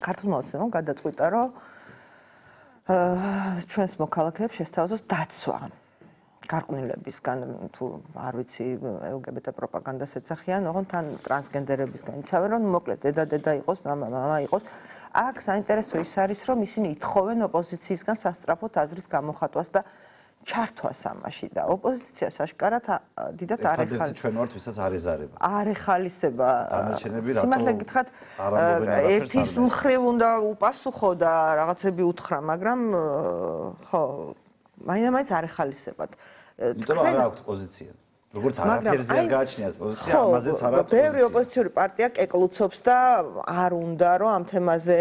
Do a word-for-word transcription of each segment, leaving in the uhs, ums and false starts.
ქართულმა ოცნებამ გადაწყვიტა, რომ ჩვენს მოქალაქეებს შესთავაზოს დაცვა. გარყვნილებისგან თუ არ ვიცი ელ გი ბი ტე პროპაგანდას ეძახიან, ოღონდ თან ტრანსგენდერებისგან იცავენ, რომ მოკლედ დედა-დედა იყოს, მამა-მამა იყოს. აქ საინტერესო ის არის, რომ ისინი ითხოვენ ოპოზიციისგან სასწრაფოდ აზრის გამოხატვას და ჩართვას ამაში და ოპოზიციას აშკარად დიდად არ ეხალისება. ჩვენ ვართ, ვისაც არ ეზარება. არ ეხალისება. სიმართლე გითხრათ, ერთის მხრივ უნდა უპასუხო და რაღაცები უთხრა, მაგრამ ხო, მაინც არ ეხალისებათ. იმიტომ არ აქვს პოზიცია. როგორც არაფერზე არ გააჩნიათ პოზიცია, ამაზეც არ აქვს. ბევრი ოპოზიციური პარტია კეკლუცობს და არ უნდა რომ ამ თემაზე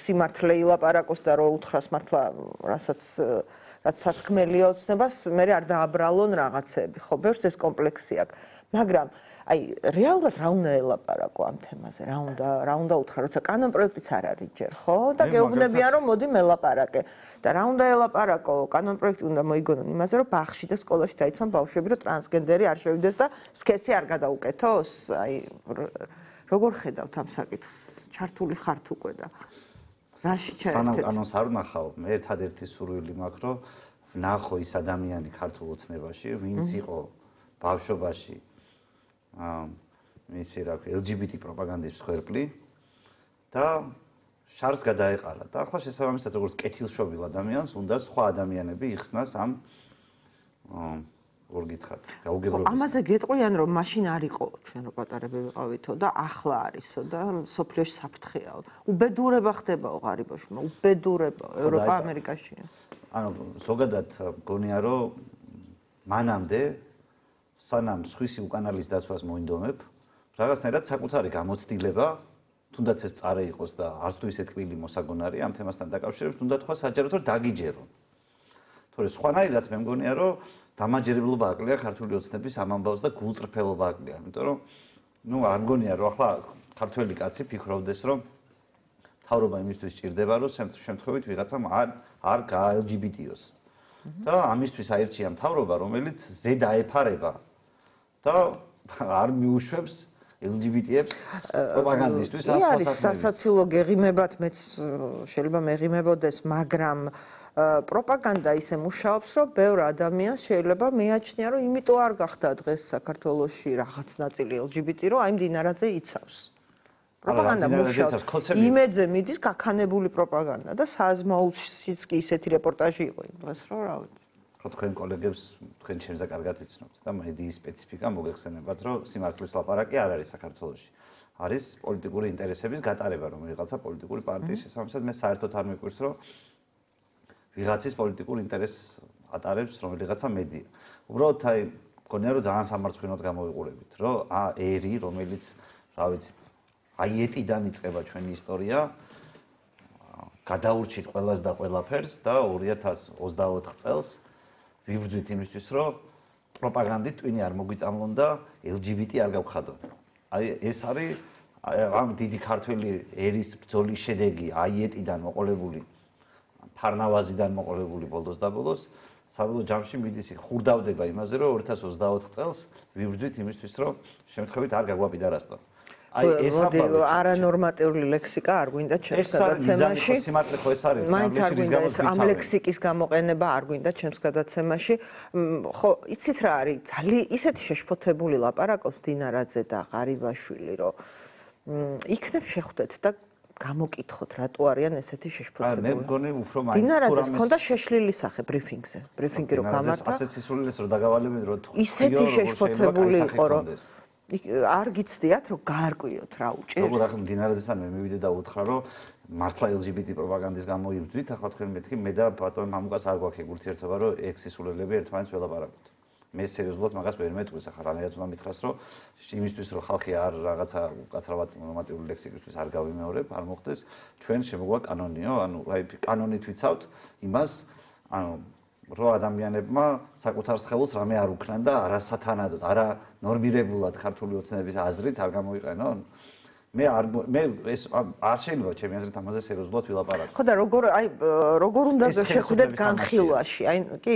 სიმართლე ილაპარაკოს და რომ უთხრას მართლა, რასაც რაც სათქმელია ოცნებას, მე არ დააბრალონ რაღაცები. ხო, ბევრს ეს კომპლექსი აქვს. მაგრამ აი რეალურად რა უნდა ელაპარაკო ამ თემაზე? რა უნდა რა უნდა უთხრა, როცა კანონ პროექტიც არ არის ჯერ, ხო? და გეუბნებიან რომ მოდი მელაპარაკე. და რა უნდა ელაპარაკო? კანონ პროექტი უნდა მოიგონონ იმაზე, რომ ბაღში და სკოლაში დაიცვან ბავშვები, რომ ტრანსგენდერი არ შევიდეს და სქესი არ გადაუკეთოს. აი როგორ ხედავთ ამ საკითხს? ჩართული ხართ უკვე და რაში ჩაერთეთ? სანამ კანონს არ ვნახავ, მე ერთადერთი სურვილი მაქვს, რომ ვნახო ის ადამიანი ქართულ ოცნებაში, ვინც იყო ბავშვობაში აა მისი რა ქვია ელ ჯი ბი ტი პროპაგანდის მსხვერპლი და შარს გადაეყარა და ახლა შესაბამისად როგორც კეთილშობილ ადამიანს უნდა სხვა ადამიანები იხსნას ამ როგორ გითხრათ გაუგებრობის. ამაზე გეტყვიან რომ მაშინ არ იყო ჩვენ რო პატარები ვიყავითო და ახლა არისო და სოფლიოში საფრთხეაო. უბედურება ხდებაო ღარიბაშვილმა, უბედურება ევროპა ამერიკაშია. ანუ ზოგადად მგონია რომ მანამდე სანამ სხვისი უკანალის დაცვას მოინდომებ, რაღაცნაირად საკუთარი გამოცდილება, თუნდაც ეს წარე იყოს და არც თუ ისე ტკბილი მოსაგონარი ამ თემასთან დაკავშირებით, უნდა თქვა საჯაროდ რომ დაგიჯერო. თორე სხვანაირად მე მგონია რომ დამაჯერებლობა აკლია ქართული ოცნების ამ ამბავს და გულწრფელობა აკლია, იმიტომ რომ ნუ არ მგონია რომ ახლა ქართველი კაცი ფიქრობდეს რომ თავრობა იმისთვის ჭირდება რომ შემთხვევით ვიღაცამ არ არ გაა ელ ჯი ბი ტი-ოს. და ამისთვის აირჩია მთავრობა, რომელიც ზედაეფარება და არ მიუშვებს ელ ჯი ბი ტი-ებს პროპაგანდისტვის ასო საკითხი. ის არის სასაცილო გეღიმებათ, მეც შეიძლება მეღიმებოდეს, მაგრამ პროპაგანდა ისე მუშაობს, რომ ბევრ ადამიანს შეიძლება მეაჩნია, რომ იმიტომ არ გახდა დღეს საქართველოში რაღაც ნაწილი ელ ჯი ბი ტი, რომ აი მდინარაძე იცავს. პროპაგანდა მუშაობს. იმედზე მიდის გაქანებული პროპაგანდა და საზმაულშიც კი ისეთი რეპორტაჟი იყო იმ დღეს, რომ რა ვიცი. ხო თქვენ კოლეგებს თქვენ ჩემზე კარგად იცნობთ და მედიის სპეციფიკა მოგეხსენებათ, რომ სიმართლის ლაპარაკი არ არის საქართველოში. არის პოლიტიკური ინტერესების გატარება, რომ ვიღაცა პოლიტიკური პარტიის შესაბამისად მე საერთოდ არ მიყვირს, რომ ვიღაცის პოლიტიკურ ინტერესს ატარებს რომელიღაცა მედია. უბრალოდ აი მგონია რომ ძალიან სამარცხვინოდ გამოვიყურებით, რომ ა ერი, რომელიც რა ვიცი აი ეტიდან იწყება ჩვენი ისტორია, გადაურჩით ყველას და ყველაფერს და ორი ათას ოცდაოთხ წელს ვიბრძვით იმისთვის, რომ პროპაგანდით ტვინი არ მოგვიწამლონ და ელ ჯი ბი ტი არ გავხადონ. აი ეს არის ამ დიდი ქართველი ერის ბრძოლის შედეგი, აი ეტიდან მოყოლებული, ფარნავაზიდან მოყოლებული ბოლოს და ბოლოს, საბოლოო ჯამში მიდის ხურდავდება იმაზე, რომ ორი ათას ოცდაოთხ წელს ვიბრძვით იმისთვის, რომ შემთხვევით არ გაგვაპირასტონ. აი ეს არანორმატიული ლექსიკა არ გვინდა ჩემს გადაცემაში. სიმართლე ხო ეს არის, ამ ლექსიკის გამოყენება არ გვინდა ჩემს გადაცემაში. ხო, იცით რა არის, ძალიან ისეთი შეშფოთებული ლაპარაკობს დინარაძე და ღარიბაშვილი, რომ იქნებ შეხვდეთ და გამოკითხოთ, რატო არიან ესეთი შეშფოთებული. მე მგონი უფრო მაინც დინარაძეს ჰქონდა შეშლილი სახე ბრიფინგზე. ბრიფინგი რო გამართა. ასეთ სისულელეს რო დაგავალებენ, რომ ისეთი შეშფოთებული იყო, რომ არ გიცდიათ რომ გაარკვიოთ რა უჭერს. როგორ ახლა დინარაძესთან მე მივიდე და უთხრა რომ მართლა ელ ჯი ბი ტი პროპაგანდის გამოიბრძვით, ახლა თქვენ მეთქი მე და ბატონ მამუკას არ გვაქვს ეგ ურთიერთობა რომ ეგ სისულელები ერთმანეთს ველაპარაკოთ. მე სერიოზულად მაგას ვერ მეტყვის, ახლა რანაირად უნდა მითხრას რომ იმისთვის რომ ხალხი არ რაღაცა უკაცრავად ნორმატიული ლექსიკისთვის არ გავიმეორებ, არ მოხდეს, ჩვენ შემოგვაქვს კანონიო, ანუ აი კანონით ვიცავთ იმას, ანუ რო ადამიანებმა საკუთარ სხეულს რამე არ უქნან და არასათანადოდ, არა ნორმირებულად ქართული ოცნების აზრით არ გამოიყენონ. მე არ მე ეს არ შეიძლება ჩემი აზრით ამაზე სერიოზულად ვილაპარაკო. ხო და როგორ აი როგორ უნდა შეხვდეთ განხილვაში? აი კი,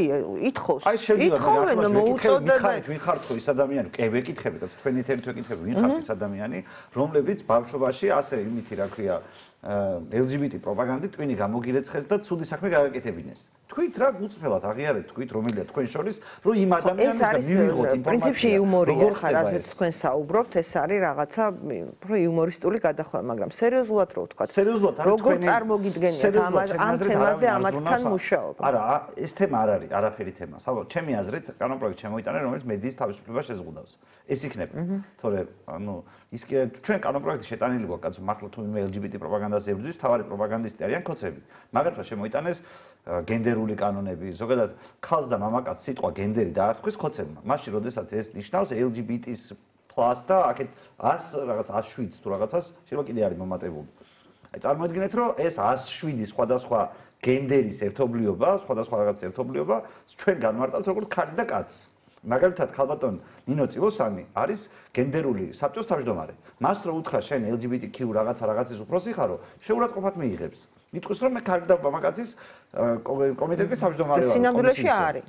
ითხოვს. ითხოვენ მოუწოდეთ. მიხარით ვინ ხართ ხო ის ადამიანი? კი, ვეკითხები, თქვენი თერით ვეკითხები, ვინ ხართ ის ადამიანი, რომლებიც ბავშვობაში ასე იმითი რა ქვია ელ ჯი ბი ტი პროპაგანდით ტვინი გამოგირეცხეს და ცუდი საქმე გააკეთებინეს. თქვით რა გუწფელად აღიარეთ თქვით რომელია თქვენ შორის რომ იმ ადამიანისგან მივიღოთ ინფორმაცია. პრინციპში იუმორია ხა რაზეც თქვენ საუბრობთ ეს არის რაღაცა უფრო იუმორისტული გადახვევა მაგრამ სერიოზულად რო ვთქვა სერიოზულად არა როგორ წარმოგიდგენიათ ამ ამ თემაზე ამათთან მუშაობა არა ეს თემა არ არის არაფერი თემა საბოლოოდ ჩემი აზრით კანონპროექტი შემოიტანა რომელიც მედიის თავისუფლებას შეზღუდავს ეს იქნება თორე ანუ ის კი ჩვენ კანონპროექტი შეტანილი გვაქვს კაცო მართლა თუ ელ ჯი ბი ტი პროპაგანდას ებრძვის თავარი პროპაგანდისტი არიან ქოცები მაგათმა შემოიტანეს გენდერული კანონები ზოგადად ქალს და მამაკაცს სიტყვა გენდერი დაარქვეს ქოცებმა მაშინ როდესაც ეს ნიშნავს ელ ჯი ბი ტის პლუს და აქეთ ას რაღაც ას შვიდს თუ რაღაცას შეიძლება კიდე არის მომატებული აი წარმოიდგინეთ რომ ეს ას შვიდი სხვადასხვა გენდერის ერთობლიობა სხვადასხვა რაღაც ერთობლიობა ჩვენ განმარტავთ როგორც ქალი და კაცს მაგალითად ქალბატონ ნინო წილოსანი არის გენდერული საბჭოს თავმჯდომარე მას რო უთხრა შენ ელ ჯი ბი ტი კიუ რაღაცა რაღაცის უფროსი ხარო შეურაცხყოფად მიიღებს იტყვის რომ მე ქალი და მამაკაცის კომიტეტის თავმჯდომარე ვარ სინამდვილეში არის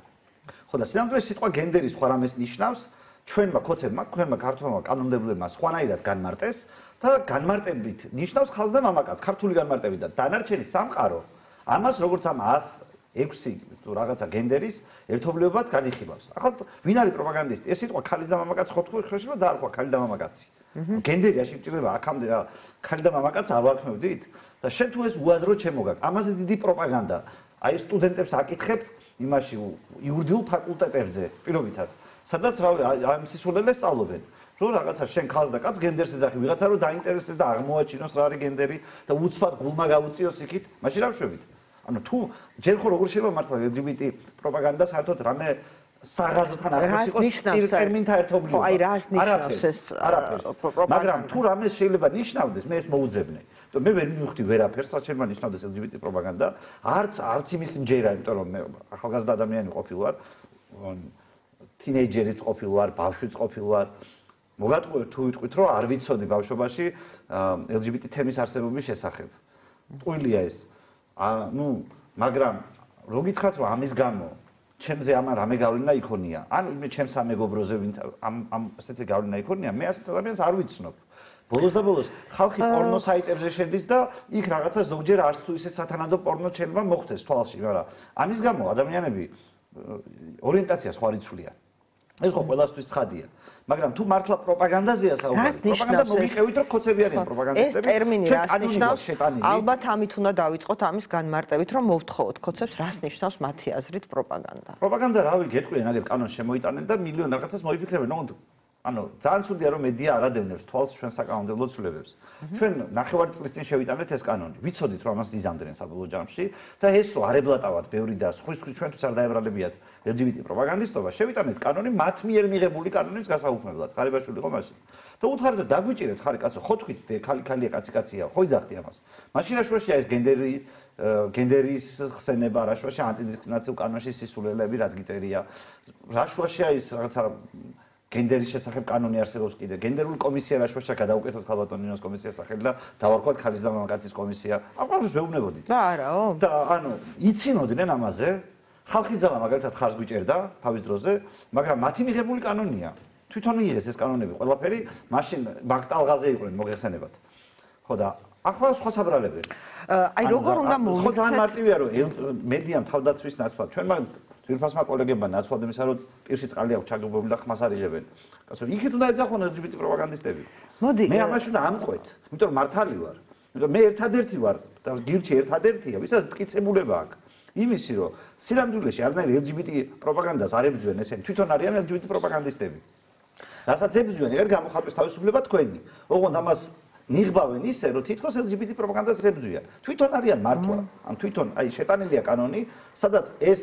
ხო და სინამდვილეში სიტყვა გენდერი სხვა რამეს ნიშნავს ჩვენმა ქოცებმა ჩვენმა ქართულმა კანონმდებლებმა სხვანაირად განმარტეს და განმარტებით ნიშნავს ხალხს და მამაკაცს ქართული განმარტებით და დანარჩენი სამყარო ამას როგორც ამ ას ექვსი თუ რაღაცა გენდერის ერთობლიობად განიხილავს. ახლა ვინ არის პროპაგანდისტი? ეს სიტყვა ქალის და მამაკაცს ხო თქვი შეიძლება დაარქვა ქალი და მამაკაცი. გენდერი არ შეიძლება აქამდე რა ქალი და მამაკაცს არ ვარქმევდით და შენ თუ ეს უაზრო ჩემოგაკ. ამაზე დიდი პროპაგანდა. აი სტუდენტებს აკითხებ იმაში იურიდიულ ფაკულტეტებზე პირობითად. სადაც რავი ამ სისულელეს სწავლობენ. რომ რაღაცა შენ ქალს და კაცს გენდერს ეძახი, ვიღაცა რომ დაინტერესდეს და აღმოაჩინოს რა არის გენდერი და უცბად გულმა გაუწიოს იქით, მაშინ რა ვშვებით? ანუ თუ ჯერ ხო როგორ შეიძლება მართლა ელ ჯი ბი ტი პროპაგანდა საერთოდ რამე საღაზრთან ახლოს იყოს ტერმინთა ერთობლიობა. ხო, აი რას ნიშნავს ეს პროპაგანდა? მაგრამ თუ რამე შეიძლება ნიშნავდეს, მე ეს მოუძებნე. მე ვერ მივხვდი ვერაფერს, რაც შეიძლება ნიშნავდეს ელ ჯი ბი ტი პროპაგანდა. არც არც იმის მჯერა, იმიტომ რომ მე ახალგაზრდა ადამიანი ყოფილი ვარ. თინეიჯერიც ყოფილი ვარ, ბავშვიც ყოფილი ვარ. მოგატყუებთ თუ ვიტყვით რომ არ ვიცოდი ბავშვობაში ელ ჯი ბი ტი თემის არსებობის შესახებ. ტყუილია ეს. ანუ მაგრამ რო გითხრათ რომ ამის გამო ჩემზე ამან რამე გავლენა იქონია ან მე ჩემს ამეგობროზე ვინც ამ ამ ესეთი გავლენა იქონია მე ასეთ ადამიანს არ ვიცნობ ბოლოს და ბოლოს ხალხი პორნო საიტებზე შედის და იქ რაღაცა ზოგჯერ არც თუ ისე სათანადო პორნო შეიძლება მოხდეს თვალში მაგრამ ამის გამო ადამიანები ორიენტაცია სხვა რიცხვია ეს ხო ყველასთვის ცხადია მაგრამ თუ მართლა პროპაგანდაზეა საუბარი პროპაგანდა მოგიყევით რომ ქოცები არიან პროპაგანდისტები ეს ტერმინი რას ნიშნავს ალბათ ამით უნდა დავიწყოთ ამის განმარტებით რომ მოვთხოვოთ ქოცებს რას ნიშნავს მათი აზრით პროპაგანდა პროპაგანდა რავი გეტყვიან აგერ კანონს შემოიტანენ და მილიონ რაღაცას მოიფიქრებენ ანუ ძალიან ცუდია რომ მედია არ ადევნებს თვალს ჩვენ საკანონმდებლო ცვლილებებს ჩვენ ნახევარი წლის წინ შევიტანეთ ეს კანონი ვიცოდით რომ ამას იზამდნენ საბოლოო ჯამში და ეს რო არ ებლატავად ბევრი და სხვის სხვის ჩვენთვის არ დაებრალებიათ ელ ჯი ბი ტი პროპაგანდისტობა შევიტანეთ კანონი მათ მიერ მიღებული კანონის გასაუქმებლად ხარიბაშვილი იყო მაშინ და უთხარით და დაგვიჭირეთ ხარი კაცო ხო თქვით ხალი ხალია კაცი კაცია ხო იძახდი ამას მაშინ რაშუაშია ეს გენდერი გენდერის ხსენება რაშუაშია ანტიდისკრიმინაციულ კანონში სისულელები რაც გიწერია რაშუაშია ის რაღაცა გენდერის შესახებ კანონი არსებობს კიდე გენდერული კომისია რაშუაშია გადაუკეთოთ ხალბატონ ნინოს კომისიას სახელი და დავარქვათ ქალის და მამაკაცის კომისია ამ ყველაფერს ვეუბნებოდით და არაო და ანუ იცინოდნენ ამაზე ხალხის ძალა მაგალითად ხარს გვიჭერდა თავის დროზე მაგრამ მათი მიღებული კანონია თვითონ მიიღეს ეს კანონები ყველაფერი მაშინ მაგტალღაზე იყვნენ მოგეხსენებათ ხო და ახლა სხვა საბრალებენ აი როგორ უნდა მოვიქცეთ ხო ძალიან მარტივია რომ მედიამ თავდაცვის ნაცვლად ჩვენმა ძვირფასმა კოლეგებმა ნაცვლად იმისა რომ პირში წყალი აქვს ჩაგებებული და ხმას არიღებენ კაცო იქით უნდა ეძახონ ელ ჯი ბი ტი პროპაგანდისტები მოდი მე ამაში უნდა ამყვეთ იმიტომ რომ მართალი ვარ იმიტომ მე ერთადერთი ვარ და გირჩი ერთადერთია ვისაც მტკიცებულება აქვს იმისი რომ სინამდვილეში არანაირი ელ ჯი ბი ტი პროპაგანდას არ ებრძვიან ესენი თვითონ არიან ელ ჯი ბი ტი პროპაგანდისტები რასაც ებრძვიან ეგ გამოხატვის თავისუფლება თქვენი ოღონდ ამას ნიღბავენ ისე რომ თითქოს ელ ჯი ბი ტი პროპაგანდას ებრძვიან თვითონ არიან მართლა ან თვითონ აი შეტანილია კანონი სადაც ეს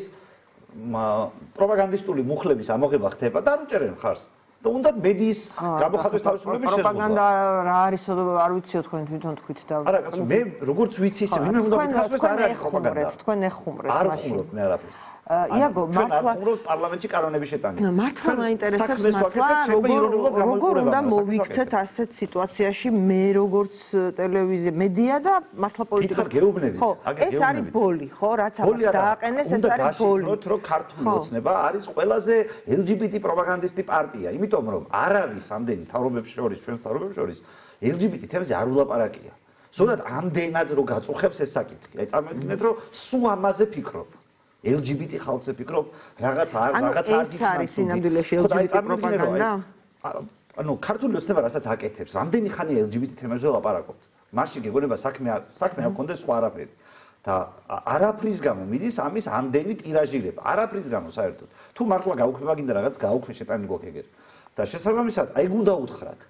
პროპაგანდისტული მუხლების ამოღება ხდება და არ უჭერენ ხარს და უნდა მედიის გამოხატვის თავისუფლების შეზღუდვა. პროპაგანდა რა არის, არ ვიციო თქვენ თვითონ თქვით და არა, კაცო, მე როგორც ვიცი ისე, ვინმე უნდა მითხრას არ არის პროპაგანდა. თქვენ ეხუმრეთ მაშინ. არ ხუმრობ მე არაფერს. იაგო, მართლა პარლამენტში კანონები შეტანილი. მართლა მაინტერესებს მართლა როგორ უნდა მოვიქცეთ ასეთ სიტუაციაში მე როგორც ტელევიზია, მედია და მართლა პოლიტიკა. გეუბნებით. ეს არის ბოლი, ხო, რაც ამას დააყენეს, ეს არის ბოლი. უნდა რომ ქართული ოცნება არის ყველაზე ელ ჯი ბი ტი პროპაგანდისტი პარტია, იმიტომ რომ არავის ამდენი თავრობებს შორის, ჩვენ თავრობებს შორის ელ ჯი ბი ტი თემზე არ ულაპარაკია. ზოგადად ამდენად რო გაწუხებს ეს საკითხი. აი წარმოვიდგინეთ რომ სულ ამაზე ფიქრობ. ელ ჯი ბი ტი ხალხზე ფიქრობ, რაღაც არ რაღაც არ გიქნა. ეს არის სინამდვილეში ელ ჯი ბი ტი პროპაგანდა? ანუ ქართული ოცნება რასაც აკეთებს, რამდენი ხანია ელ ჯი ბი ტი თემებზე ლაპარაკობთ. მაშინ გეგონება საქმე საქმე არ გქონდეს სხვა არაფერი. და არაფრის გამო მიდის ამის ამდენი ტირაჟირება. არაფრის გამო საერთოდ. თუ მართლა გაუქმება გინდა რაღაც გაუქმე შეტანი გვაქვს. და შესაბამისად, აი გუნდა უთხრათ.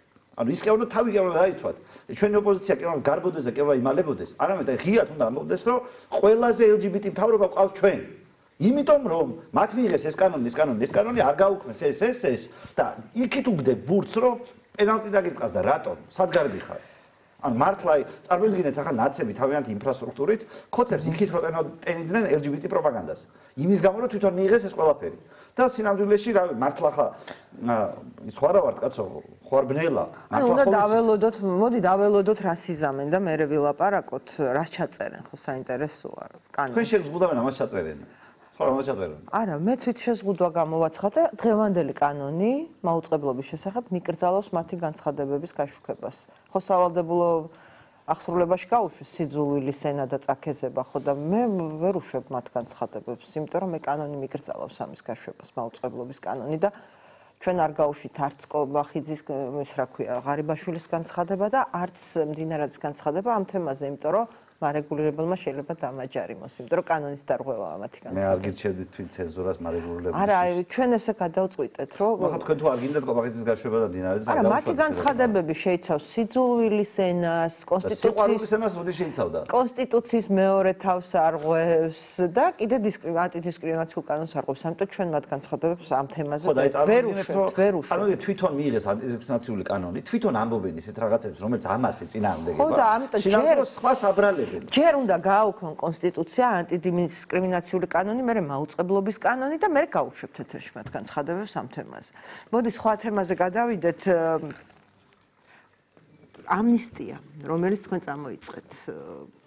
ანუ ის კი არ უნდა თავი კი არ უნდა დაიცვათ. ჩვენი ოპოზიცია კი არ უნდა გარბოდეს და კი არ უნდა იმალებოდეს. არამედ აი ღიად უნდა ამბობდეს, რომ ყველაზე ელ ჯი ბი ტი მთავრობა ყავს ჩვენ. იმიტომ რომ მათ მიიღეს ეს კანონი, ეს კანონი, ეს კანონი არ გაუქმეს ეს ეს ეს და იქით უგდებ ბურთს, რომ პენალტი დაგიტყას და რატომ? სად გარბი ხარ? ან მართლა წარმოვიდგინეთ ახლა ნაცები თავიანთი ინფრასტრუქტურით ხოცებს იქით რო ტენიდნენ ელ ჯი ბი ტი პროპაგანდას. იმის გამო რომ თვითონ მიიღეს ეს ყველაფერი. და სინამდვილეში რა მართლა ხა სხვა რა ვარ კაცო ხوار ბნელა მართლა ხო უნდა დაველოდოთ მოდი დაველოდოთ რას იზამენ და მე ვილაპარაკოთ რას ჩაწერენ ხო საინტერესოა კანონი თქვენ შეგზღუდავენ ამას ჩაწერენ ხო ამას ჩაწერენ არა მე თვით შეზღუდვა გამოვაცხადე დღევანდელი კანონი მაუწყებლობის შესახებ მიკრძალავს მათი განცხადებების გაშუქებას ხო სავალდებულო ახსრულებაში გაუშვეს სიძულვილი სენა და წაქეზება ხო და მე ვერ უშვებ მათ განცხადებებს იმიტომ რომ მე კანონი მიკრძალავს ამის გაშვებას მაუწყებლობის კანონი და ჩვენ არ გაუშვით არც კობახიძის ის რა ქვია ღარიბაშვილის განცხადება და არც მდინარაძის განცხადება ამ თემაზე იმიტომ რომ მარეგულირებელმა შეიძლება დამაჯარიმოს იმიტომ რომ კანონის დარღვევაა მათი განცხადება მე არ გიჩერდით თვით ცენზურას მარეგულირებელში არა ჩვენ ესე გადავწყვიტეთ რომ ხო თქვენ თუ არ გინდათ კობახიძის გაშვება და მდინარაძის არა მათი განცხადებები შეიცავს სიძულვილის ენას კონსტიტუციის ენას როდი შეიცავდა კონსტიტუციის მეორე თავს არღვევს და კიდე ანტიდისკრიმინაციულ კანონს არღვევს ამიტომ ჩვენ მათ განცხადებებს ამ თემაზე ვერ უშვებთ ვერ უშვებთ ანუ თვითონ მიიღეს ანტიდისკრიმინაციული კანონი თვითონ ამბობენ ისეთ რაღაცებს რომელიც ამას ეწინააღმდეგება ხო და ამიტომ ჯერ სხვა საბრალები ჯერ უნდა გააუქმონ კონსტიტუცია ანტიდისკრიმინაციული კანონი, მერე მაუწყებლობის კანონი და მერე გაუშვებთ ეთერში მათ განცხადებებს ამ თემაზე. მოდი სხვა თემაზე გადავიდეთ. ამნისტია, რომელიც თქვენ წამოიწყეთ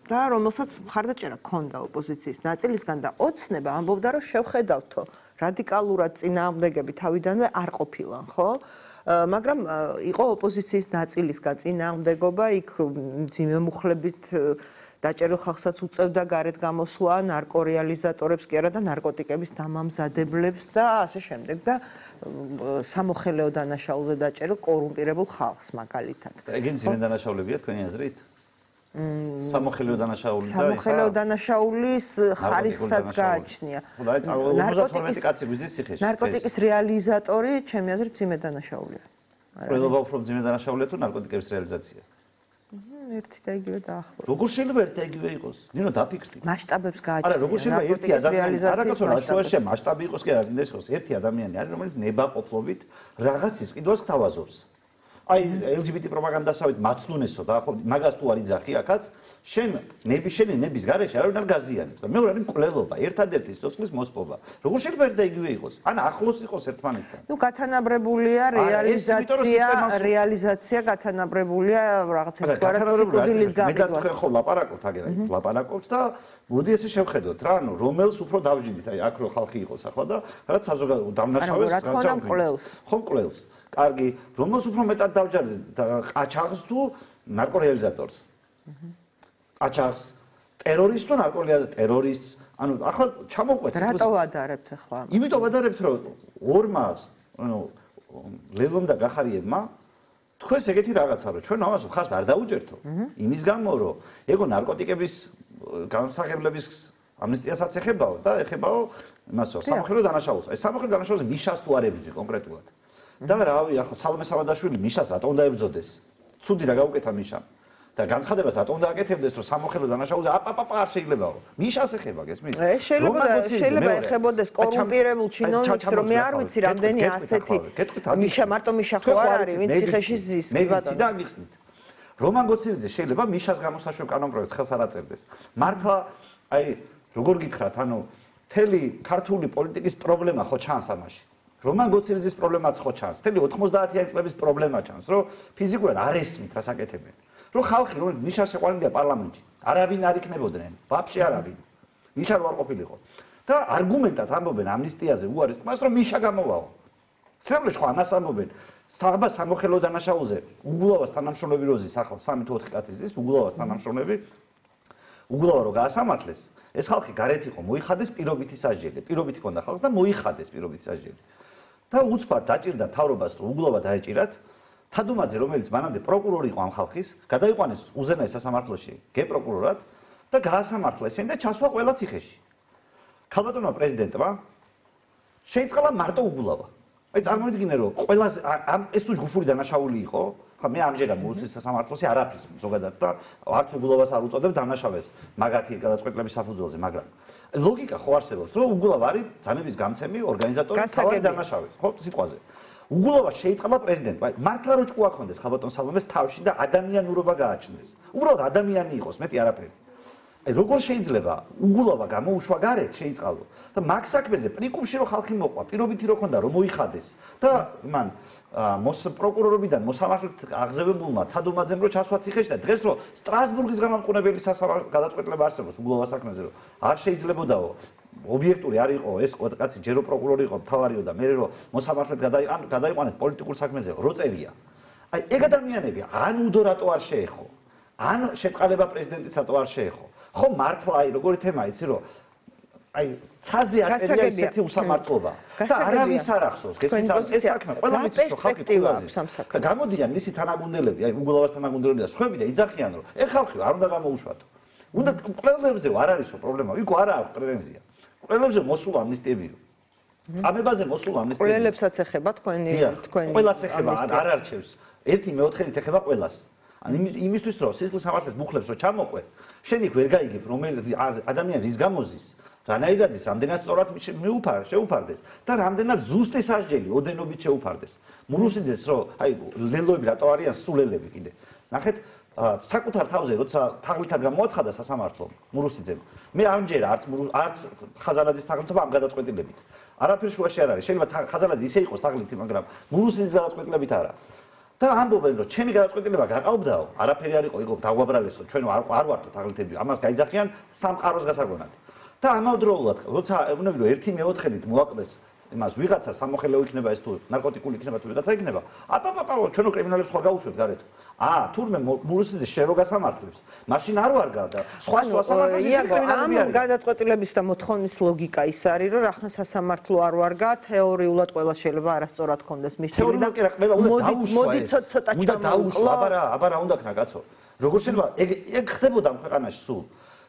და რომელსაც მხარდაჭერა ჰქონდა ოპოზიციის ნაწილისგან და ოცნება ამბობდა რომ შევხედავთო რადიკალურად წინააღმდეგები თავიდანვე არ ყოფილან, ხო? მაგრამ იყო ოპოზიციის ნაწილისგან წინააღმდეგობა, იქ ძიმე მუხლებით დაჭერილ ხალხსაც უწევდა გარეთ გამოსვლა, ნარკორეალიზატორებს კი არა და ნარკოტიკების დამამზადებლებს და ასე შემდეგ და სამოხელეო დანაშაულზე დაჭერილ კორუმპირებულ ხალხს მაგალითად. ეგ ძიმე დანაშაულებია თქვენი აზრით? სამოხელეო დანაშაული და სამოხელეო დანაშაულის ხარისხსაც გააჩნია. ნარკოტიკის რეალიზატორი, ჩემი აზრით, ძიმე დანაშაულია. ყველობა უფრო ძიმე დანაშაულია თუ ნარკოტიკების რეალიზაცია? ერთი და იგივე დაახლოებით. როგორ შეიძლება ერთი და იგივე იყოს? ნინო დაფიქრდი. მასშტაბებს გააჩნია. არა, როგორ შეიძლება ერთი ადამიანი, არა კაცო, რა შუაში მასშტაბი იყოს კი არა, მინდა იყოს ერთი ადამიანი არის, რომელიც ნებაყოფლობით რაღაცის ყიდვას გთავაზობს. აი ელ ჯი ბი ტი პროპაგანდასავით მაცნუნესო და ახლა მაგას თუ არ იძახი აქაც შენ ნები შენი ნების გარეშე არავინ არ გაზიანებს და მეორე არის მკვლელობა ერთადერთი სიცოცხლის მოსპობა როგორ შეიძლება ერთ და იგივე იყოს ან ახლოს იყოს ერთმანეთთან ნუ გათანაბრებულია რეალიზაცია რეალიზაცია გათანაბრებულია რაღაცა თქვა სიკვდილის გაგიდვას მე და ხო ლაპარაკობთ აგერა ლაპარაკობთ და მოდი ესე შევხედოთ რა ანუ რომელს უფრო დავჯინით აი აქ რო ხალხი იყოს ახლა და რაღაც საზოგადო დამნაშავეს რა თქმა უნდა მკვლელს ხო მკვლელს კარგი, რომელს უფრო მეტად დავჯარდეთ ყაჩაღს თუ ნარკორეალიზატორს? ყაჩაღს, ტერორისტს თუ ნარკორეალიზატორს? ტერორისტს. ანუ ახლა ჩამოვყვეთ. რატო ვადარებთ ახლა? იმიტომ ვადარებთ, რომ ორმა, ანუ ლელომ და გახარიებმა თქვენს ეგეთი რაღაცა რომ ჩვენ ამას მხარს არ დაუჯერთო. იმის გამო რომ ეგო ნარკოტიკების გამსახებლების ამნისტიასაც ეხებაო და ეხებაო იმასო სამოხელეო დანაშაულს. აი სამოხელეო დანაშაულს მიშას თუ არ ებრძვი კონკრეტულად. და რავი ახლა სალომე სამადაშვილი მიშას რატომ უნდა ებრძოდეს? ცუდი რა გაუკეთა მიშამ. და განცხადებას რატომ უნდა აკეთებდეს რომ სამოხელეო დანაშაულზე აპაპაპა არ შეიძლებაო. მიშას ეხება გესმის? შეიძლება შეიძლება ეხებოდეს კორუმპირებულ ჩინოვნიკს რომ მე არ ვიცი რამდენი ასეთი მიშა მარტო მიშა ხო არ არის ვინც ციხეში ზის კი ბატონო. და აგიხსნით. რომან გოცირიძე შეიძლება მიშას გამოსაშვებ კანონპროექტს ხელს არ აწერდეს. მართლა აი როგორ გითხრათ ანუ მთელი ქართული პოლიტიკის პრობლემა ხო ჩანს ამაში. რომან გოცირიძის პრობლემაც ხო ჩანს. მთელი ოთხმოცდაათიანი წლების პრობლემა ჩანს, რომ ფიზიკურად არ ესმით რას აკეთებენ. რომ ხალხი რომ ნიშა შეყვანილია პარლამენტში, არავინ არ იქნებოდნენ, ვაფშე არავინ. ნიშა რო არ ყოფილიყო. და არგუმენტად ამბობენ ამნისტიაზე უარის თმას, რომ ნიშა გამოვაო. სრემლეში ხო ამას ამბობენ. საბა სამოხელო დანაშაულზე უგულავას თანამშრომლები როზის ახლა სამი თუ ოთხი კაცი ზის უგულავას თანამშრომლები უგულავა რო გაასამართლეს ეს ხალხი გარეთ იყო მოიხადეს პირობითი სასჯელი პირობითი ქონდა ხალხს და მოიხადეს პირობითი სასჯელი და უცბად დაჭირდა თავრობას რომ უგულავა დაეჭირათ თადუმაძე რომელიც მანამდე პროკურორი იყო ამ ხალხის გადაიყვანეს უზენაეს სასამართლოში გეპროკურორად და გაასამართლა ესენი და ჩასვა ყველა ციხეში ქალბატონმა პრეზიდენტმა შეიწყალა მარტო უგულავა აი წარმოიდგინე რომ ყველაზე ამ ეს თუ ჯგუფური დანაშაული იყო ხა მე ამჯერად მუსის სასამართლოში არაფრის ზოგადად და არც უგულავას არ უწოდებ დანაშავეს მაგათი გადაწყვეტილების საფუძველზე მაგრამ ლოგიკა ხო არსებობს რომ უგულავა არის ძანების გამცემი ორგანიზატორი თავი დანაშავე ხო სიტყვაზე უგულავა შეიწყალა პრეზიდენტმა მართლა რო ჭკუა ქონდეს ხალბატონ სალომეს თავში და ადამიანურობა გააჩნდეს უბრალოდ ადამიანი იყოს მეტი არაფერი აი როგორ შეიძლება უგულავა გამოუშვა გარეთ შეიწყალო და მაგ საქმეზე პრიკუმში რო ხალხი მოყვა პირობითი რო ქონდა რომ მოიხადეს და მან მოს პროკურორობიდან მოსამართლედ აღზევებულმა თადუმაძემ რო ჩასვა ციხეში და დღეს რო სტრასბურგის გამამყურებელი გადაწყვეტილება არსებობს უგულავა საქმეზე რომ არ შეიძლებოდაო ობიექტური არ იყო ეს კაცი ჯერო პროკურორი იყო მთავარიო და მე რო მოსამართლედ გადაიყვანეთ პოლიტიკურ საქმეზე რო წერია აი ეგ ადამიანები ან უდო რატო არ შეეხო ან შეწყალება პრეზიდენტისატო არ შეეხო ხო მართლა აი როგორი თემა იცი რომ აი ცაზე აწერია ისეთი უსამართლობა და არავის არ ახსოვს გესმის ეს საქმე ყველა მიცის რომ ხალხი თულაზის და გამოდიან მისი თანაგუნდელები აი უგულავას თანაგუნდელები და სხვები და იძახიან რომ ეხ ხალხი არ უნდა გამოუშვათო უნდა ყველებზე არ არისო პრობლემა ვიგო არა აქვს პრეტენზია ყველებზე მოსულ ამნისტიებიო წამებაზე მოსულ ამნისტიებიო ყველებსაც ეხება თქვენი თქვენი ყველას ეხება არ არჩევს ერთი მეოთხეით ეხება ყველას ან იმისთვის რომ სისხლის სამართლის მუხლებს რო ჩამოყვე შენ იქ ვერ გაიგებ რომელი ადამიანი რის გამოზის რანაირად ის რამდენად სწორად მიუფარ შეუფარდეს და რამდენად ზუსტი სასჯელი ოდენობით შეუფარდეს მურუსიძეს რო აი ლელოები რატო არიან სულელები კიდე ნახეთ საკუთარ თავზე როცა თაღლითად გამოაცხადა სასამართლომ მურუსიძემ მე ამჯერა არც არც ხაზარაძის თაღლითობა ამ გადაწყვეტილებით არაფერ შუაში არ არის შეიძლება ხაზარაძე ისე იყოს თაღლითი მაგრამ მურუსიძის გადაწყვეტილებით არა და ამბობენ რომ ჩემი გადაწყვეტილება გაყავდაო არაფერი არ იყო იყო დაგვაბრალესო ჩვენ არ არ ვართო თაღლითები ამას გაიძახიან სამყაროს გასაგონად და ამავდროულად როცა ეუბნები რომ ერთი მეოთხედით მოაკლდეს იმას ვიღაცა სამოხელეო იქნება ეს თუ ნარკოტიკული იქნება თუ ვიღაცა იქნება აპაპაპაო ჩვენო კრიმინალებს ხარ გაუშვებთ გარეთ აა თურმე მურუსიძე შენ რო გასამართლებს მაშინ არ ვარ გადა სხვა სხვა სამართლის კრიმინალები ამ გადაწყვეტილების და მოთხოვნის ლოგიკა ის არის რომ რახან სასამართლო არ ვარგა თეორიულად ყველა შეიძლება არასწორად კონდეს მისული და მოდი ცოტა უნდა დაუშვა აბარა აბარა უნდა ქნა კაცო როგორ შეიძლება ეგ ეგ ხდებოდა ამ ქვეყანაში სულ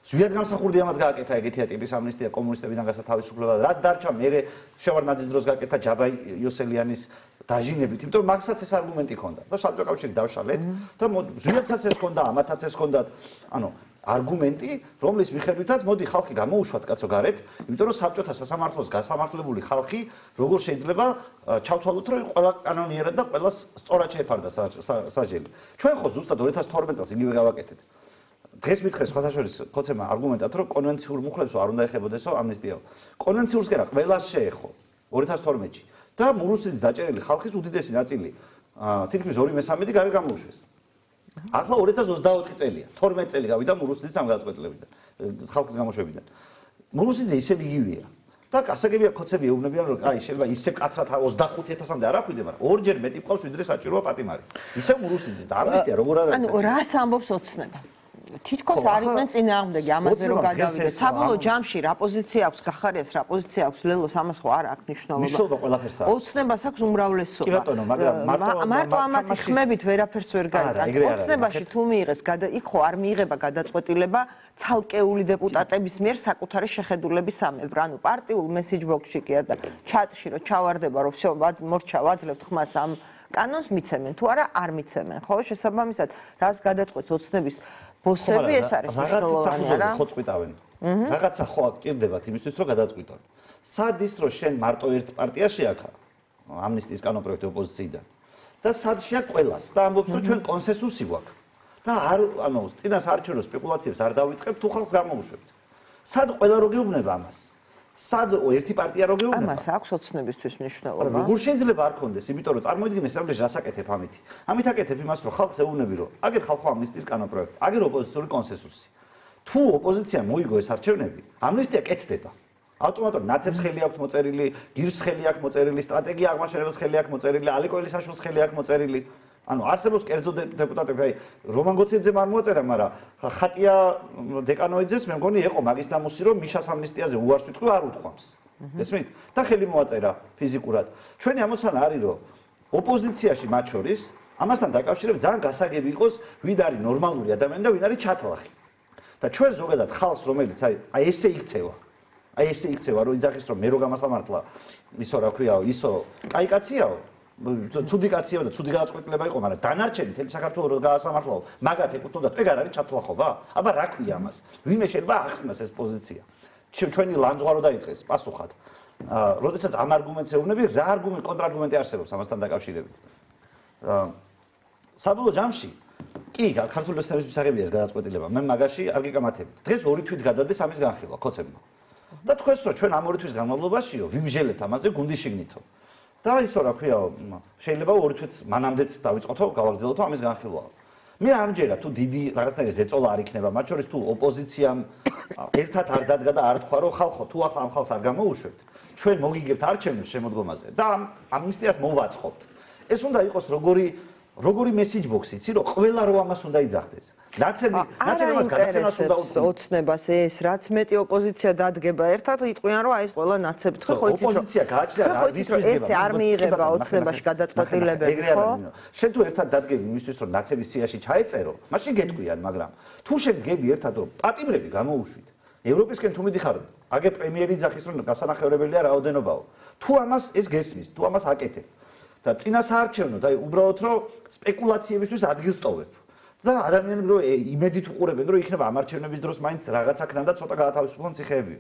ზვიად გამსახურდი ამას გააკეთა ეგეთია ტიპის ამნისტია კომუნისტებიდან გასათავისუფლება რაც დარჩა მე შევარნაძის დროს გააკეთა ჯაბა იოსელიანის დაჟინებით იმიტომ რომ მაგსაც ეს არგუმენტი ჰქონდა და საბჭოთა კავშირი დავშალეთ და ზვიადსაც ეს ჰქონდა ამათაც ეს ჰქონდათ ანუ არგუმენტი რომლის მიხედვითაც მოდი ხალხი გამოუშვათ კაცო გარეთ იმიტომ რომ საბჭოთა სასამართლოს გასამართლებული ხალხი როგორ შეიძლება ჩავთვალოთ რომ ყველა კანონიერად და ყველას სწორად შეეფარდა სასჯელი ჩვენ ხო ზუსტად ორი ათას თორმეტ წელს იგივე გავაკეთეთ დღეს მითხეს ხოთაშორის ხოცემა არგუმენტად რომ კონვენციურ მუხლებსო არ უნდა ეხებოდესო ამნისტიაო კონვენციურს კი რა ყველას შეეხო ორი ათას თორმეტში და მურუსიძის დაჭერილი ხალხის უდიდესი ნაწილი თითქმის ორი მესამედი გარეთ გამოუშვეს ახლა ორი ათას ოცდაოთხი წელია თორმეტ წელი გავიდა მურუსიძის ამ გადაწყვეტილებიდან ხალხის გამოშვებიდან მურუსიძე ისევ იგივეა და გასაგებია ხოცები ეუბნებიან რომ აი შეიძლება ისე კაცრად ოცდახუთი ათასამდე არ ახვიდე მაგრამ ორჯერ მეტი ყავს ვიდრე საჭიროა პატიმარი ისევ მურუსიძის და ამნისტია როგორ არ არის ანუ რას ამბობს ოცნება თითქოს არ იყვნენ წინააღმდეგი ამაზე რომ გადავიდეთ. საბოლოო ჯამში რა პოზიცია აქვს გახარიას, რა პოზიცია აქვს ლელოს ამას ხო არ აქვს მნიშვნელობა. მნიშვნელობა ყველაფერს აქვს. ოცნებას აქვს უმრავლესობა. კი ბატონო, მაგრამ მარტო მარტო ამათი ხმებით ვერაფერს ვერ გაიგებს. ოცნებაში თუ მიიღეს, იქ ხო არ მიიღება გადაწყვეტილება ცალკეული დეპუტატების მიერ საკუთარი შეხედულების ამებრ. ანუ პარტიულ მესეჯ ბოქსში კი და ჩატში რომ ჩავარდება რომ всё მორჩა ვაძლევთ ხმას ამ კანონს მიცემენ თუ არა არ მიცემენ. ხო შესაბამისად რას გადაწყვეტს ოცნების ბოსები ეს არის მნიშვნელოვანი რა ხო წვიტავენ რაღაცა ხო აკეთდებათ იმისთვის რომ გადაწყვიტონ სად ის რომ შენ მარტო ერთ პარტიაში აქა ამნისტიის კანონპროექტი ოპოზიციიდან და სად შეაქვს ყველას და ამბობს რომ ჩვენ კონსენსუსი გვაქვს და არ ანუ წინასაარჩევნო სპეკულაციებს არ დავიწყებთ თუ ხალხს გამოუშვებთ სად ყველა რო გეუბნება ამას სად ერთი პარტია რო გეუბნება ამას აქვს ოცნებისთვის მნიშვნელობა როგორ შეიძლება არ კონდეს იმიტომ რომ წარმოიდგინე სამდე რასაკეთებ ამით ამით აკეთებ იმას რომ ხალხს ეუბნები რომ აგერ ხალხო ამნისტიის კანონპროექტი აგერ ოპოზიციური კონსენსუსი თუ ოპოზიცია მოიგო ეს არჩევნები ამნისტია კეთდება ავტომატურად ნაცებს ხელი აქვს მოწერილი, გირს ხელი აქვს მოწერილი, სტრატეგია აღმაშენებას ხელი აქვს მოწერილი, ალიკო ელისაშვილს ხელი აქვს მოწერილი. ანუ არსებობს კერძო დეპუტატები, აი რომან გოციძემ არ მოაწერა, მაგრამ ხატია დეკანოიძეს მე მგონი ეყო მაგის ნამუსი, რომ მიშას ამნისტიაზე უარს ვიტყვი, არ უთქვამს. ესმით? და ხელი მოაწერა ფიზიკურად. ჩვენი ამოცანა არის, რომ ოპოზიციაში მათ შორის ამასთან დაკავშირებით ძალიან გასაგები იყოს, ვინ არის ნორმალური ადამიანი და ვინ არის ჩათლახი. და ჩვენ ზოგადად ხალხს, რომელიც აი აი ესე იქცევა. აი ესე იქცევა, რომ იძახის რომ მე რო გამასამართლა, ისო რა ქვიაო, ისო კაი კაციაო. ცუდი კაციაო და ცუდი გადაწყვეტილება იყო, მაგრამ დანარჩენი თელი საქართველოს რო გაასამართლაო, მაგათ ეკუთვნოდა, ეგ არ არის ჩათლახობა? აბა რა ქვია ამას? ვინმე შეიძლება ახსნას ეს პოზიცია? ჩვენი ლანძღვარო დაიწყეს პასუხად. აა, როდესაც ამ არგუმენტს ეუბნები, რა არგუმენტი, კონტრარგუმენტი არსებობს ამასთან დაკავშირებით? აა, საბოლოო ჯამში კი, ქართული ოცნების მისაღებია ეს გადაწყვეტილება. მე მაგაში არ გიკამათებით. დღეს ორი თვით გადადეს ამის განხილვა ქოცებმა. და თქვენს რომ ჩვენ ამ ორი თვის განმავლობაშიო ვიმჟელეთ ამაზე გუნდის შიგნითო. და ისო რა ქვიაო, შეიძლება ორი თვით მანამდეც დავიწყოთო, გავაგრძელოთო ამის განხილვა. მე ამჯერად თუ დიდი რაღაცნაირი ზეწოლა არ იქნება, მათ შორის თუ ოპოზიციამ ერთად არ დადგა და არ თქვა რომ ხალხო თუ ახლა ამ ხალხს არ გამოუშვებთ, ჩვენ მოგიგებთ არჩევნებს შემოდგომაზე და ამ ამნისტიას მოვაწყობთ. ეს უნდა იყოს როგორი როგორი მესიჯ ბოქსი, იცი რომ ყველა რო ამას უნდა იძახდეს. ნაცები, ნაცები მას გადაცემას უნდა ოცნებას ეს, რაც მეტი ოპოზიცია დადგება ერთად, იტყვიან რომ აი ეს ყველა ნაცები თქვენ ხო იცით რომ ოპოზიცია გააჩნია რა დისკუსია. ეს არ მიიღება ოცნებაში გადაწყვეტილებები, ხო? შენ თუ ერთად დადგები იმისთვის რომ ნაცების სიაში ჩაეწერო, მაშინ გეტყვიან, მაგრამ თუ შენ გები ერთად რომ პატიმრები გამოუშვით, ევროპისკენ თუ მიდიხარ, აგე პრემიერი ძახის რომ გასანახევრებელია რაოდენობაო. თუ ამას ეს გესმის, თუ ამას აკეთებ და წინასაარჩევნო და უბრალოდ რომ სპეკულაციებისთვის ადგილს ტოვებ. და ადამიანები რომ იმედით უყურებენ რომ იქნება ამ არჩევნების დროს მაინც რაღაც აქნან და ცოტა გაათავისუფლონ ციხეებიო.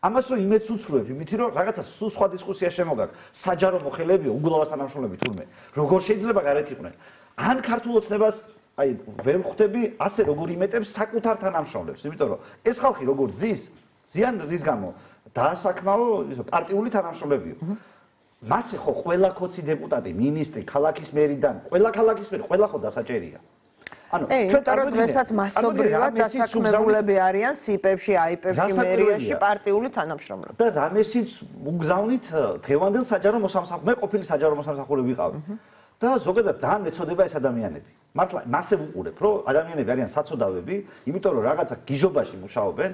ამას რომ იმედს უცრუებ იმითი რომ რაღაცა სულ სხვა დისკუსია შემოგაგ, საჯარო მოხელებიო, უგულავას თანამშრომლები თურმე. როგორ შეიძლება გარეთ იყვნენ? ან ქართულ ოცნებას აი ვერ ხვდები ასე როგორ იმეტებს საკუთარ თანამშრომლებს, იმიტომ რომ ეს ხალხი როგორ ძის, ზიან რის გამო დაასაქმაო ისო პარტიული თანამშრომლებიო. მასე ხო ყველა ქოცი დეპუტატი, მინისტრი, ქალაქის მერიდან, ყველა ქალაქის მერი, ყველა ხო დასაჭერია. ანუ ჩვენ წარმოიდგინეთ მასობრივად დასაქმებულები არიან სიპებში, აიპებში, მერიაში პარტიული თანამშრომლები. და რამესიც მგზავნით დღევანდელ საჯარო მოსამსახურე, მე ყოფილი საჯარო მოსამსახურე ვიყავი. და ზოგადად ძალიან მეწოდება ეს ადამიანები. მართლა მასე ვუყურებ, რომ ადამიანები არიან საცოდავები, იმიტომ რომ რაღაცა გიჟობაში მუშაობენ.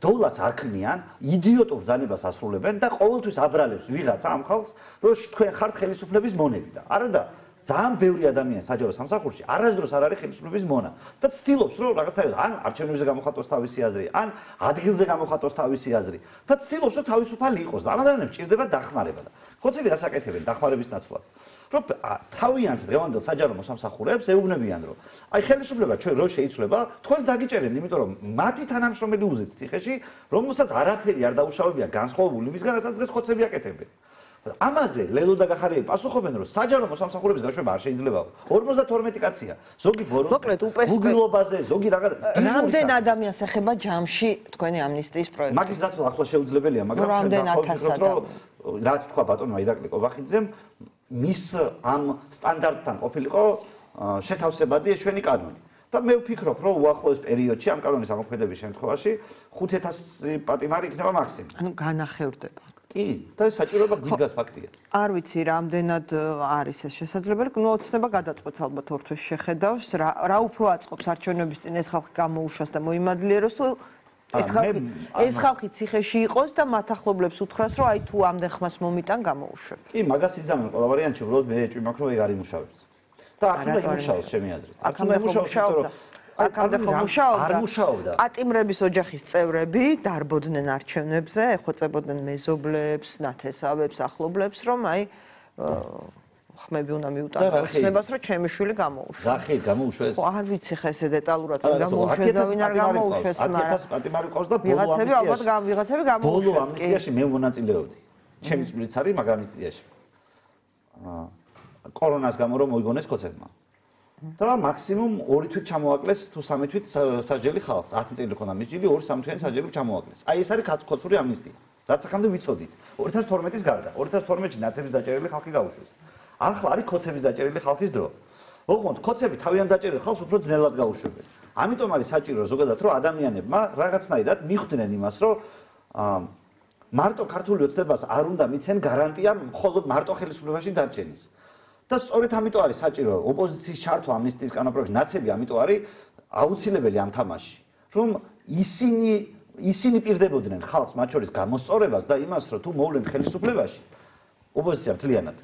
დოვლაც არ ქმნიან, იდიოტურ ბრძანებას ასრულებენ და ყოველთვის აბრალებს ვიღაცა ამ ხალხს, რომ თქვენ ხართ ხელისუფლების მონები და არა და ძალიან ბევრი ადამიანი საჯარო სამსახურში არასდროს არ არის ხელისუფლების მონა და ცდილობს რომ რაღაცნაირად ან არჩევნებზე გამოხატოს თავისი აზრი, ან ადგილზე გამოხატოს თავისი აზრი და ცდილობს რომ თავისუფალი იყოს და ამ ადამიანებს ჭირდება დახმარება და ხოცები რას აკეთებენ დახმარების ნაცვლად. რომ თავიანთ დღევანდელ საჯარო მოსამსახურეებს ეუბნებიან რომ აი ხელისუფლება ჩვენ რო შეიცვლება, თქვენს დაგიჭერენ, იმიტომ რომ მათი თანამშრომელი უზეთ ციხეში, რომელსაც არაფერი არ დაუშავებია განსხვავებული იმისგან, რასაც დღეს ხოცები აკეთებენ. ამაზე ლელო და გახარიელი პასუხობენ რომ საჯარო მოსამსახურების გაშვება არ შეიძლება. ორმოცდათორმეტი კაცია. ზოგი ბორო. უგილობაზე, ზოგი რაღაც. რამდენ ადამიანს ეხება ჯამში თქვენი ამნისტიის პროექტი? მაგის დათვლა ახლა შეუძლებელია, მაგრამ რამდენ ათას ადამიანი. რაც თქვა ბატონმა ირაკლი კობახიძემ, მის ამ სტანდარტთან ყოფილიყო შეთავსებადი ეშვენი კანონი. და მე ვფიქრობ, რომ უახლოეს პერიოდში ამ კანონის ამოქმედების შემთხვევაში ხუთი ათასი პატიმარი იქნება მაქსიმუმ. ანუ განახევრდება. კი, და ეს საჭიროება გვიდგას ფაქტია. არ ვიცი, რამდენად არის ეს შესაძლებელი. ნუ ოცნება გადაწყვეტს ალბათ ორ თვეს შეხედავს, რა რა უფრო აწყობს არჩევნების წინ ეს ხალხი გამოუშვას და მოიმადლიეროს თუ ეს ხალხი ეს ხალხი ციხეში იყოს და მათ ახლობლებს უთხრას, რომ აი თუ ამდენ ხმას მომიტან გამოუშვებ. კი, მაგას იზამენ ყველა ვარიანტში, უბრალოდ მე ეჭვი მაქვს, რომ ეგ არ იმუშავებს. და არც უნდა იმუშაოს ჩემი აზრით. არც უნდა იმუშაოს, იმიტომ რომ აქამდე ხომ მუშაობდა? პატიმრების ოჯახის წევრები დარბოდნენ არჩევნებზე, ეხვეწებოდნენ მეზობლებს, ნათესავებს, ახლობლებს, რომ აი ხმები უნდა მიუტანო ოცნებას, რომ ჩემი შვილი გამოუშვეს. რა ხე გამოუშვეს? ხო, არ ვიცი ხე ესე დეტალურად თუ გამოუშვეს და ვინ არ გამოუშვეს, მაგრამ ათი ათასი პატიმარი ყავს და ბოლო ამნისტიაში. ვიღაცები ალბათ ვიღაცები გამოუშვეს. ბოლო ამნისტიაში მე მონაწილეობდი. ჩემი წვლით არის მაგ ამნისტიაში. აა კორონას გამო რომ მოიგონეს ქოცებმა. და მაქსიმუმ ორი თვით ჩამოაკლეს თუ სამი თვით სასჯელი ხალხს. ათი წელი ქონდა მის ჯილი, ორი სამი თვიანი სასჯელი ჩამოაკლეს. აი ეს არის ქოცური ამნისტია. რაც ახამდე ვიცოდით. ორი ათას თორმეტის გარდა. ორი ათას თორმეტში ნაცების დაჭერილი ხალხი გაუშვეს. ახლა არის ქოცების დაჭერილი ხალხის დრო. ოღონდ ქოცები თავიანთ დაჭერილ ხალხს უფრო ძნელად გაუშვებენ. ამიტომ არის საჭირო ზოგადად რომ ადამიანებმა რაღაცნაირად მიხვდნენ იმას, რომ მარტო ქართული ოცნებას არ უნდა მიცენ გარანტია მხოლოდ მარტო ხელისუფლებაში დარჩენის. და სწორედ ამიტომ არის საჭირო ოპოზიციის ჩართვა ამნისტიის კანონპროექტში, ნაცები ამიტომ არის აუცილებელი ამ თამაში, რომ ისინი ისინი პირდებოდნენ ხალხს მათ შორის გამოსწორებას და იმას, რომ თუ მოვლენ ხელისუფლებაში, ოპოზიცია მთლიანად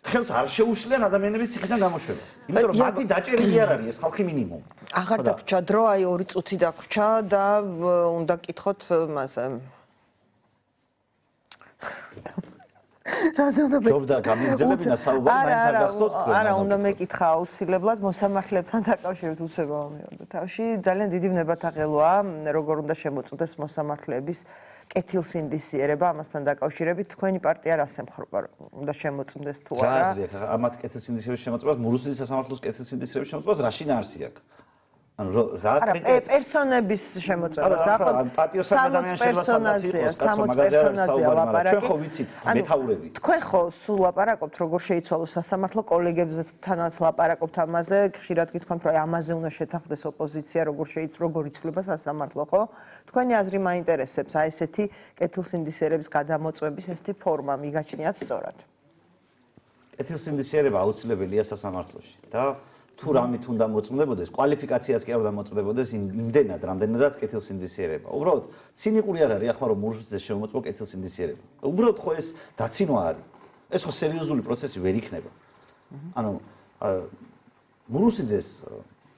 ხელს არ შეუშლიან ადამიანების ციხიდან გამოშვებას. იმიტომ რომ მათი დაჭერილი არ არის ეს ხალხი მინიმუმ. აღარ დაგვრჩა დრო, აი ორი წუთი დაგვრჩა და უნდა გკითხოთ მასე. რაზე უნდა ჯობდა გამიგზელებინა საუბარი, მაინც არ გახსოვთ თქვენ. არა, უნდა მეკითხა აუცილებლად მოსამართლებთან დაკავშირებით უცებო ამიორდა. თავში ძალიან დიდი ვნებათაღელოა, როგორ უნდა შემოწმდეს მოსამართლეების კეთილსინდისიერება ამასთან დაკავშირებით. თქვენი პარტია რას ემხრობა, უნდა შემოწმდეს თუ არა? რა აზრი აქვს ამათ კეთილსინდისიერების შემოწმებას, მურუსიძის სასამართლოს კეთილსინდისიერების შემოწმებას რაში ნარსი აქვს? ანუ რა კრიტერიუმი? პერსონების შემოწმებას და ახლა პატიოსადამიანს პერსონაზია, სამოც პერსონაზია ლაპარაკი. ჩვენ ხო ვიცით მეთაურები. თქვენ ხო სულ ლაპარაკობთ როგორ შეიცვალოს სასამართლო, კოლეგებთანაც ლაპარაკობთ ამაზე, ხშირად გითქვამთ რომ ამაზე უნდა შეთანხმდეს ოპოზიცია, როგორ შეიცვალოს, როგორ იცვლება სასამართლო, ხო? თქვენი აზრი მაინტერესებს, აი ესეთი კეთილსინდისიერების გადამოწმების ესეთი ფორმა მიგაჩნიათ სწორად? კეთილსინდისიერება აუცილებელია სასამართლოში და თუ რამით უნდა მოწმდებოდეს, კვალიფიკაციაც კი არ უნდა მოწმდებოდეს იმდენად, რამდენადაც კეთილსინდისიერება. უბრალოდ ცინიკური არ არის ახლა რომ მურუსიძეს შემოწმო კეთილსინდისიერება. უბრალოდ ხო ეს დაცინვა არის. ეს ხო სერიოზული პროცესი ვერ იქნება. ანუ მურუსიძეს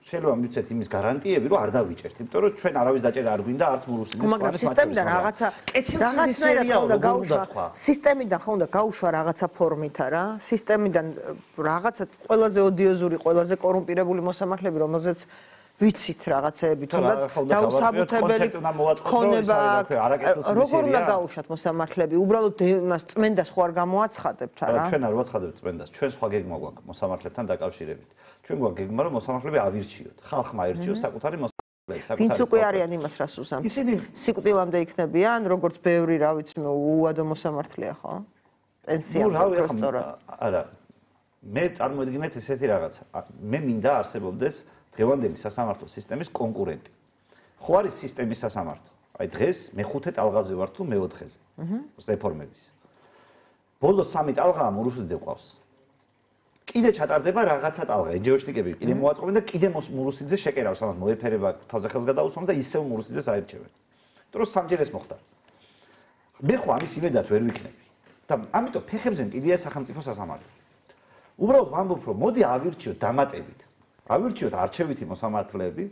შეიძლება მიცეთ იმის გარანტიები, რომ არ დავიჭერთ, იმიტომ რომ ჩვენ არავის დაჭერა არ გვინდა, არც მურუსიძეს მაგრამ სისტემიდან რაღაცა კეთილსინდისიერია უნდა გაუშვა. სისტემიდან ხო უნდა გაუშვა რაღაცა ფორმით არა? სისტემიდან რაღაცა ყველაზე ოდიოზური, ყველაზე კორუმპირებული მოსამართლეები, რომელზეც ვიცით რაღაცეები, თუნდაც დაუსაბუთებელი ქონება, როგორ უნდა გაუშვათ მოსამართლეები? უბრალოდ იმას წმენდას ხო არ გამოაცხადებთ არა? ჩვენ არ ვაცხადებთ წმენდას, ჩვენ სხვა გეგმა გვაქვს მოსამართლებთან დაკავშირებით. ჩვენ გვაქვს გეგმა რომ მოსამართლეები ავირჩიოთ, ხალხმა აირჩიოს საკუთარი მოსამართლეები, საკუთარი. ვინც უკვე არიან იმას რას უსამთ? ისინი სიკვდილამდე იქნებიან, როგორც ბევრი, რა ვიცი, უადო მოსამართლეა, ხო? პენსიამდე სწორად. არა. მე წარმოედგინეთ ესეთი რაღაცა. მე მინდა არსებობდეს დღევანდელი სასამართლო სისტემის კონკურენტი. ხო არის სისტემის სასამართლო. აი დღეს მეხუთე ტალღაზე ვარ თუ მეოთხეზე. რეფორმების. ბოლო სამი ტალღაა მურუსიძე ყავს. კიდე ჩატარდება რაღაცა ტალღა, ენჯეოშნიკები კიდე მოაწყობენ და კიდე მურუსიძე შეკერავს ამას მოეფერება თავზე ხელს გადაუსვამს და ისევ მურუსიძეს აირჩევენ. იმიტომ რომ სამჯერ ეს მოხდა. მე ხო ამის იმედად ვერ ვიქნები. და ამიტომ ფეხებზე მკიდია სახელმწიფო სასამართლო. უბრალოდ ვამბობ რომ მოდი ავირჩიოთ დამატებით. ავირჩიოთ არჩევითი მოსამართლეები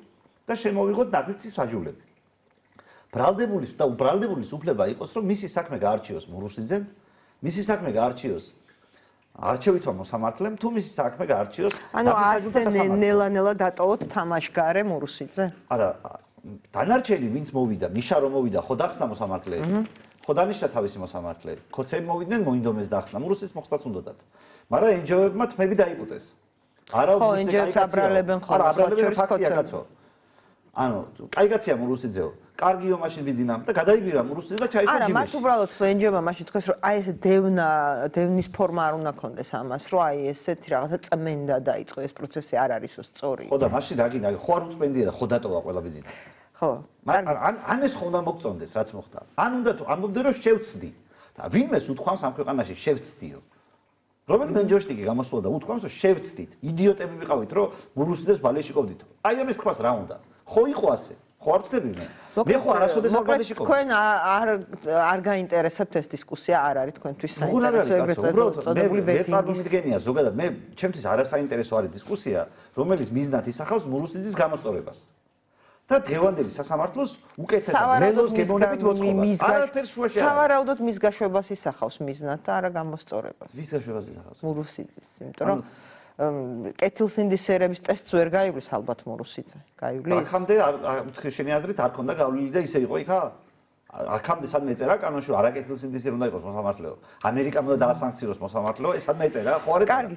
და შემოვიღოთ ნაგვიცის ფაჯულები. ბრალდებულის და უბრალდებულის უფლება იყოს, რომ მისი საქმე გაარჩიოს მურუსიძემ, მისი საქმე გაარჩიოს არჩევითმა მოსამართლემ, თუ მისი საქმე გაარჩიოს ანუ ასე ნელა-ნელა დატოვოთ თამაშგარე მურუსიძე? არა, დანარჩენი ვინც მოვიდა, ნიშა რომ მოვიდა, ხო დახსნა მოსამართლეები. ხო დანიშნა თავისი მოსამართლეები. ხოცები მოვიდნენ, მოინდომეს დახსნა. მურუსის მოხდაც უნდათ. მაგრამ ენჯოებმა თმები დაიპუტეს. არა მუსიკა აბრალებენ ხო? არა, აბრალებენ ფაქტია კაცო. ანუ, კაი კაცია მურუსიძეო. კარგიო მაშინ ბიძინა და გადაიბირა მურუსიძე და ჩაისვა ჯიბეში. არა, მათ უბრალოდ ენჯოებმა მაშინ თქვეს რომ აი ეს დევნა, დევნის ფორმა არ უნდა კონდეს ამას, რომ აი ესეთი რაღაცა წმენდა დაიწყო ეს პროცესი არ არისო სწორი. ხო და მაშინ რა გინდა, ხო არ უწმენდია და ხო დატოვა ყველა ბიძინა. ხო. ან ან ეს ხო უნდა მოგწონდეს რაც მოხდა. ან უნდა თუ ამბობდე რომ შევცდი. და ვინმეს უთქვამს ამ ქვეყანაში შევცდიო. რომელიმე ენჯოშტიკი გამოსულა და უთქვამს რომ შევცდით. იდიოტები ვიყავით რომ მურუსიძეს ბალეში ყოფდით. აი ამის თქვას რა უნდა? ხო იყო ასე. ხო არ ვწდები მე. მე ხო არასოდეს არ ბალეში ყოფდი. თქვენ არ არ გაინტერესებთ ეს დისკუსია არ არის თქვენთვის საინტერესო ეგრეთ წოდებული ვეტინგის. მე წარმომიდგენია ზოგადად მე ჩემთვის არასაინტერესო არის დისკუსია, რომელიც მიზნად ისახავს მურუსიძის გამოსწორებას. და დღევანდელი სასამართლოს უკეთესად ველოს გემოვნებით მოწყობა. არაფერს შუაში არ არის. სავარაუდოდ მის გაშვებას ისახავს მიზნად და არა გამოსწორებას. ვის გაშვებას ისახავს? მურუსიძის, იმიტომ რომ კეთილსინდისიერების ტესტს ვერ გაივლის ალბათ მურუსიძე. გაივლის? აქამდე შენი აზრით არ ქონდა გავლილი და ისე იყო იქა? აქამდე სადმე ეწერა კანონში არა კეთილსინდისიერი უნდა იყოს მოსამართლეო. ამერიკამ უნდა დაასანქციოს მოსამართლეო, ეს სადმე ეწერა? ხო არ ეწერა? კარგი,